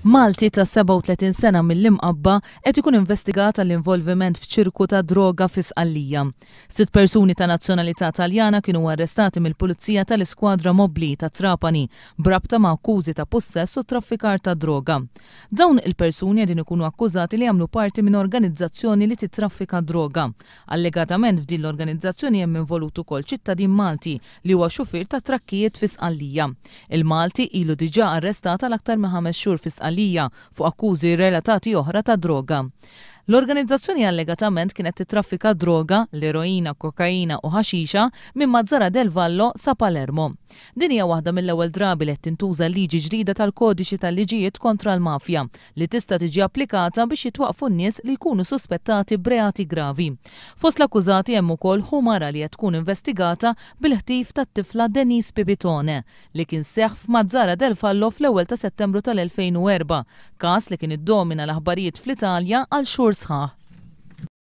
Malti ta' 37 sena mill-Imqabba qed ikun investigat għall-involviment f'ċirku ta' droga fi Sqallija. Sitt persuni ta' nazzjonalità Taljana kienu arrestati mill-Pulizija tal-Iskwadra Mobbli ta' Trapani b'rabta ma' akkużi ta' pussess u traffikar ta' droga. Dawn il-persuni qegħdin ikunu akkużati li jagħmlu parti minn organizzazzjoni li tittraffika d-droga. Allegatament f'din l-organizzazzjoni hemm involut ukoll ċittadin Malti li huwa xufier ta' trakkijiet fi Sqallija. Il-Malti ilu diġà arrestat għal aktar minn ħames xhur fi Sqallija fuq akkużi relatati oħra ta' droga. L-organizzazzjoni allegatament kienet tittraffika d-droga, l-eroina, kokaina u ħaxixa minn Mazara del Vallo sa Palermo. Din hija waħda mill-ewwel drabi li qed tintuża l-liġi ġdida tal-Kodiċi tal-Liġijiet kontra l-Mafja li tista' tiġi applikata biex jitwaqqfu n-nies li jkunu suspettati b'reati gravi. Fost l-akkużati hemm ukoll ħu mara li qed tkun investigata bil-ħtif tat-tifla Denise Pipitone, li kien seħħ f'Mazzara del Fallo fl-ewwel ta' Settembru tal-2004, każ li kien iddomina l-aħbarijiet fl-Italja għal xhur sħaħ.